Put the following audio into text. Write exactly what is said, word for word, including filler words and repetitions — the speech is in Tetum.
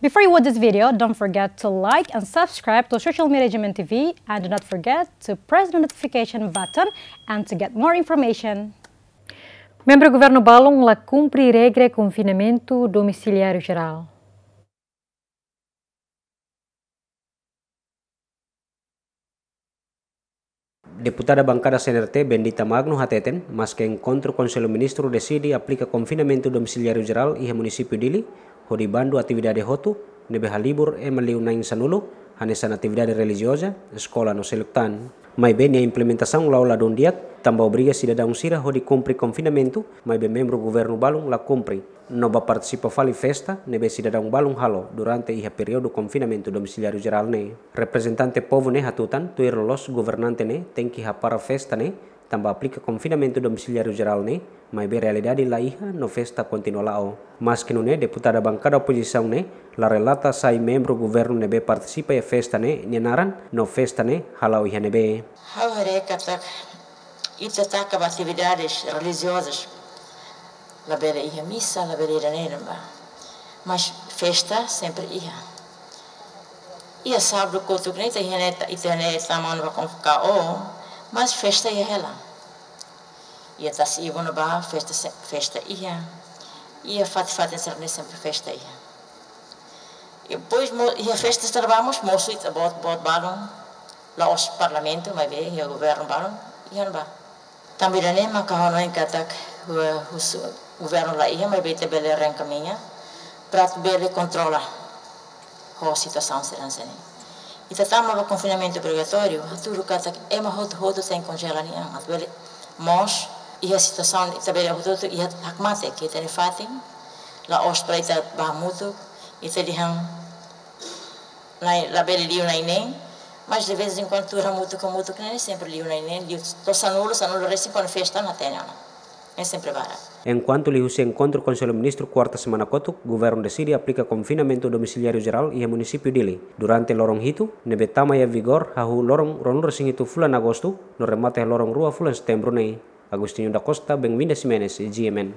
Before you watch this video, don't forget to like and subscribe to Social Media G M N T V, and do not forget to press the notification button and to get more information. Membru governu balun la kumpre regra konfinamentu domisiliáriu jerál. Deputada bankada C N R T, Bendita Magno, hateten, maske enkontru Konsellu Ministru deside aplika konfinamentu domisiliáriu jerál iha munisípiu Dili, hodi bandu atividade hotu ne'ebé halibur ema liu na'in sanulu, hanesan atividade relijioza, eskola no seluk tan. Maibé nia implementasaun la'o ladún di'ak, tanba obriga sidadaun sira hodi kumpre konfinamentu, maibé membru governu balun la kumpre, no bá partisipa fali festa ne'ebé sidadaun balun halo durante iha períodu konfinamentu domisiliáriu jerál ne'e. Reprezentante povu ne'e hatutan, tuir loloos governante ne'e tenke hapara festa ne'e, tanba aplika konfinamentu domisiliáriu jerál ne'e, maibé realidade la iha no festa kontinua la'o. Maske nune'e, deputada bankada opozisaun ne'e la relata sai membru governu ne'ebé partisipa iha festa ne'e nia naran, no festa ne'e hala'o iha ne'ebé. Ha'u haree katak ita taka ba atividades relijiozas, labele iha misa, labele ida-ne'e ba. Mas festa sempre iha. Iha sábadu kotuk ne'e ita iha ne'e, ita ne'e tama ona ba konvoka o, mas festa iha hela. Iha tasi ibu na ba festa se-, festa iha. Iha fatin-fatin sira-ne'e sempre festa iha. I depois mo-, iha festa sira ba mós mosu ita boot, boot balun. La'ós parlamentu, maibé iha governu balun, iha ne'ebá. Tanba ida-ne'e maka ha'u hanoin katak hua-, husu governu la iha, maibé ita bele reenkamiña, para atu bele kontrola ho situasaun sira hanesan ne'e. Ita tama ba konfinamentu obrigatóriu, hatudu katak ema hotu-hotu tenke konjela nia an, atu bele mós iha situasaun ita bele hotu-hotu iha hakmatek iha ita-nia fatin, la'ós para ita bá hamutuk, ita dehan na'in, labele liu na'in neen, mas de vez em quando tuur hamutuk, hamutuk ne'e sempre liu na'in neen, liu to'o sanulu, sanulu resin kuandu festa la hatene ona. É sempre barak. Enkuantu liuhusi enkontru Konsellu Ministru kuarta semana kotuk, governu deside aplika konfinamentu domisiliáriu jerál iha munisípiu Dili durante loron hitu, ne'ebé tama iha vigór hahú loron ruanulu resin hitu fulan Agostu, no remata iha loron rua fulan Setembru ne'e. Agostinho da Costa, Benvinda Ximenes, G M N.